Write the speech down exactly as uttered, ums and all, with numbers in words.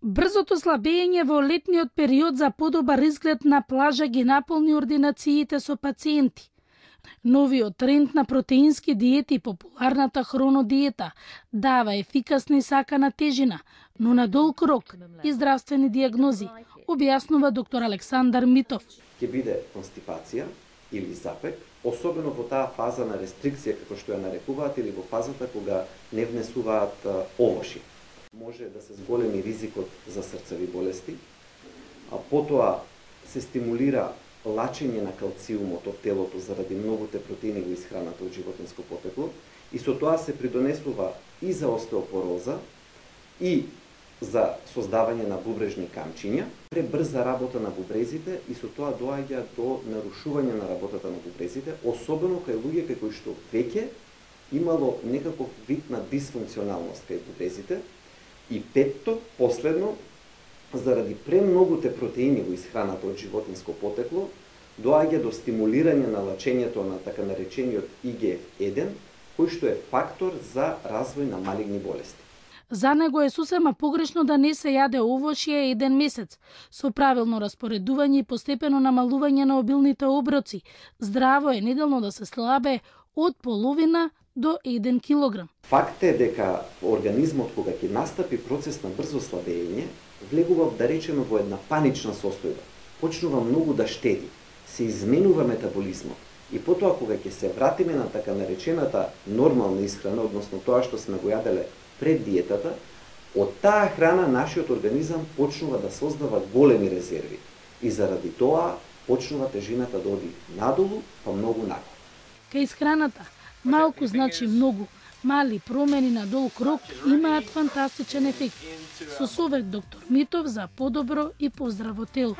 Брзото слабење во летниот период за подобар изглед на плажа ги наполни ординациите со пациенти. Новиот тренд на протеински диети и популарната хронодиета дава ефикасна и сакана тежина, но на долг рок и здравствени диагнози, објаснува доктор Александар Митов. Ќе биде констипација или запек, особено во таа фаза на рестрикција, како што ја нарекуваат, или во фазата кога не внесуваат овоши. Може да се зголеми ризикот за срцеви болести, а потоа се стимулира лачење на калциумот од телото заради многуте протеини во исхраната од животинско потекло и со тоа се придонесува и за остеопороза и за создавање на бубрежни камчиња, пребрза работа на бубрезите и со тоа доаѓа до нарушување на работата на бубрезите, особено кај луѓе кај кои што веќе имало некаков вид на дисфункционалност кај бубрезите. И петто, последно, заради премногуте протеини во исхраната од животинско потекло, доаѓа до стимулирање на лачењето на така наречениот И Г Ф еден, кој што е фактор за развој на малигни болести. За него е сосема погрешно да не се јаде овошје еден месец, со правилно распоредување и постепено намалување на обилните оброци. Здраво е неделно да се слабе од половина до еден килограм. Факт е дека организмот, кога ќе настапи процес на брзо слабење, влегува, да речеме, во една панична состојба. Почнува многу да штеди, се изменува метаболизмот и потоа кога ќе се вратиме на така наречената нормална исхрана, односно тоа што сме го јаделе пред диетата, од таа храна нашиот организам почнува да создава големи резерви и заради тоа почнува тежината да оди надолу, па многу нагоре. Кај исхраната малку значи многу. Мали промени на долг рок имаат фантастичен ефект. Со совет доктор Митов за подобро и поздраво тело.